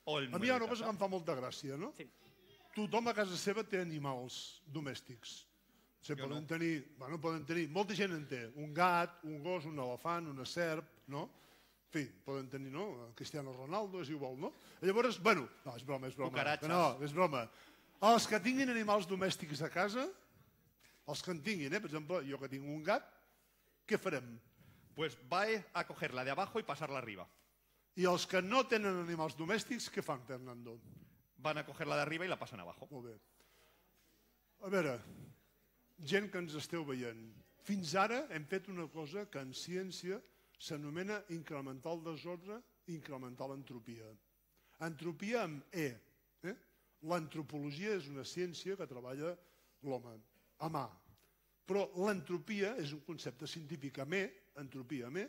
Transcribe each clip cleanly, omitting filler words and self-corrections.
A mi hi ha una cosa que em fa molta gràcia, no? Sí. Tothom a casa seva té animals domèstics. Poden tenir, molta gent en té, un gat, un gos, un elefant, una serp, no? En fi, poden tenir, no? Cristiano Ronaldo, és igual, no? Llavors, bueno, no, és broma. Cucaratxes. No, és broma. Els que tinguin animals domèstics a casa, els que en tinguin, per exemple, jo que tinc un gat, què farem? Pues va a coger la de abajo y pasarla arriba. I els que no tenen animals domèstics, què fan, Fernando? Van a coger la de arriba y la pasan abajo. Molt bé. A veure, gent que ens esteu veient, fins ara hem fet una cosa que en ciència s'anomena incrementar el desordre, incrementar l'entropia. Entropia amb E. L'antropologia és una ciència que treballa l'home, a mà. Però l'entropia és un concepte científic amb E, entropia amb E,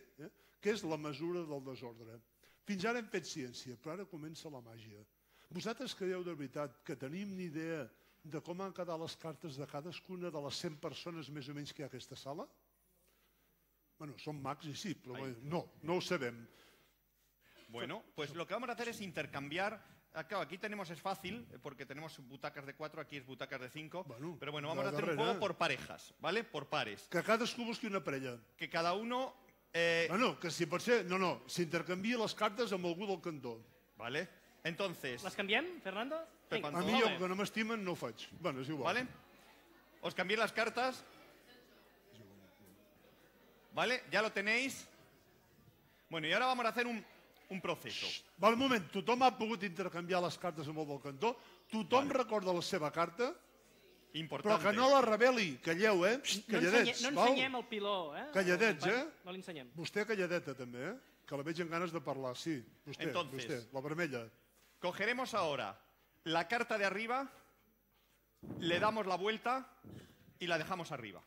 que és la mesura del desordre. Fins ara hem fet ciència, però ara comença la màgia. Vosaltres creieu de veritat que tenim ni idea de com han quedat les cartes de cadascuna de les 100 persones més o menys que hi ha a aquesta sala? Bueno, són mags i sí, però no ho sabem. Bueno, pues lo que vamos a hacer es intercambiar. Claro, aquí tenemos, es fácil, porque tenemos butacas de 4, aquí es butacas de 5. Pero bueno, vamos a hacer un juego por parejas, ¿vale? Por pares. Que cadascú busqui una parella. Que cada uno... Bueno, que si pot ser... No, s'intercanvia les cartes amb algú del cantó. Vale. Entonces... Les canviem, Fernando? A mi, que no m'estimen, no ho faig. Bueno, és igual. Vale. Os cambié las cartas. Vale, ya lo tenéis. Bueno, y ahora vamos a hacer un proceso. Val, un moment, tothom ha pogut intercanviar les cartes amb el del cantó? Tothom recorda la seva carta? Importante. Però que no la reveli, calleu, calladets. No ensenyem el piló, Calladets, No l'ensenyem. Vostè calladeta també, que la veig en ganes de parlar, sí. Vostè, la vermella. Cogeremos ahora la carta de arriba, le damos la vuelta y la dejamos arriba.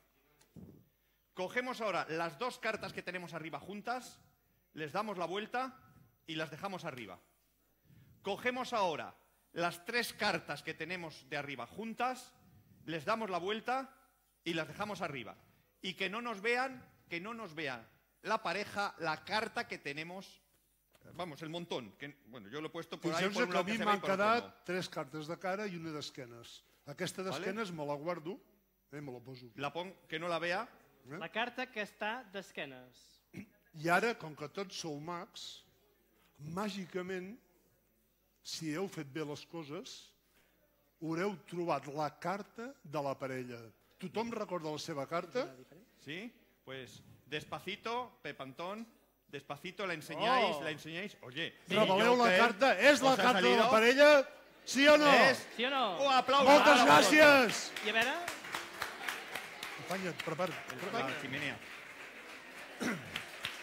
Cogemos ahora las dos cartas que tenemos arriba juntas, les damos la vuelta y las dejamos arriba. Cogemos ahora las tres cartas que tenemos de arriba juntas, les damos la vuelta y las dejamos arriba. Y que no nos vean la pareja, la carta que tenemos, vamos, el montón. Bueno, yo lo he puesto por ahí. Fixeu-vos que a mi m'han quedat 3 cartes de cara i una d'esquenes. Aquesta d'esquenes me la guardo, me la poso. Que no la vea. La carta que està d'esquenes. I ara, com que tots sou mags, màgicament, si heu fet bé les coses, haureu trobat la carta de la parella. Tothom recorda la seva carta? Sí, pues despacito, Pep Antón, despacito la enseñáis. Oye, reveleu la carta, és la carta de la parella? Sí o no? Sí o no? Un aplauso. Moltes gràcies! I a veure... Companya't, prepara't. La chimenea.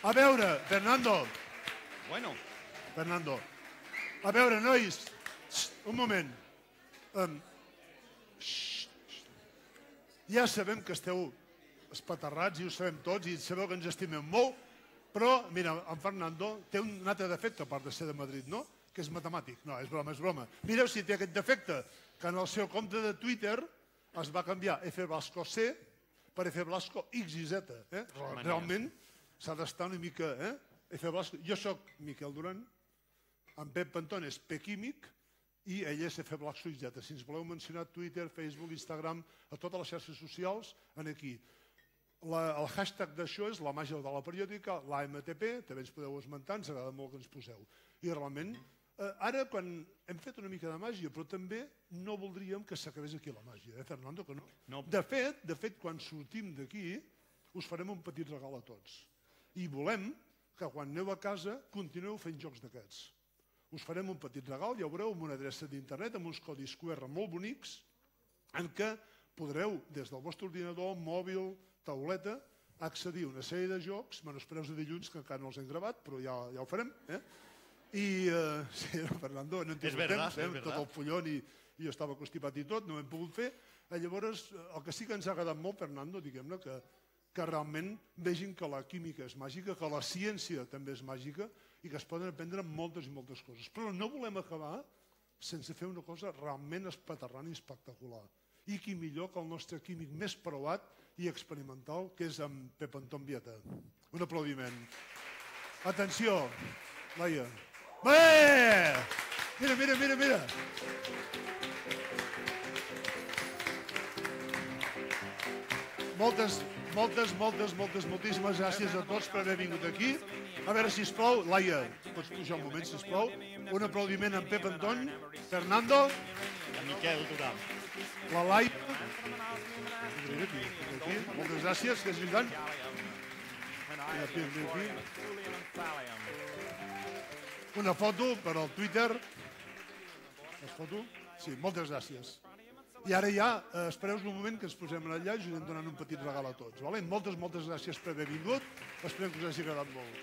A veure, Fernando. Bueno. Fernando. A veure, nois, un moment. Ja sabem que esteu espaterrats i ho sabem tots i sabeu que ens estimem molt, però, mira, en Fernando té un altre defecte, a part de ser de Madrid, no? Que és matemàtic. No, és broma. Mireu si té aquest defecte, que en el seu compte de Twitter es va canviar F Blasco C per F Blasco X i Z. Realment s'ha d'estar una mica... F Blasco... Jo soc Miquel Duran, en Pep Antón és P Químic, i ell és F Blasco X, Z. Si ens voleu mencionar Twitter, Facebook, Instagram, a totes les xarxes socials, aquí. El hashtag d'això és la màgia de la periòdica, l'AMTP, també ens podeu esmentar, ens agrada molt que ens poseu. I realment, ara quan hem fet una mica de màgia, però també no voldríem que s'acabés aquí la màgia, Fernando? Que no. De fet, quan sortim d'aquí, us farem un petit regal a tots. I volem que quan aneu a casa continueu fent jocs d'aquests. Us farem un petit regal, ja ho veureu, amb una adreça d'internet, amb uns codis QR molt bonics, en què podreu, des del vostre ordinador, mòbil, tauleta, accedir a una sèrie de jocs, espereu de dilluns, que encara no els hem gravat, però ja ho farem. I, sí, Fernando, no hem tingut temps, tot el fullon i jo estava constipat i tot, no ho hem pogut fer. Llavors, el que sí que ens ha agradat molt, Fernando, diguem-ne, que realment vegin que la química és màgica, que la ciència també és màgica i que es poden aprendre moltes i moltes coses. Però no volem acabar sense fer una cosa realment espaterrant i espectacular. I qui millor que el nostre químic més preuat i experimental, que és en Pep Antón Vieta. Un aplaudiment. Atenció, Laia. Bé! Mira, mira, mira, mira. Moltíssimes gràcies a tots per haver vingut aquí. A veure, sisplau, Laia, pots pujar un moment, sisplau. Un aplaudiment en Pep Antony, Fernando, A Miquel Durán. la Laia. Aquí. Moltes gràcies, que és lluitant. Una foto per al Twitter. Es foto? Sí, moltes gràcies. I ara ja, espereu un moment que ens posem allà i us anem donant un petit regal a tots. Moltes gràcies per haver vingut. Esperem que us hagi agradat molt.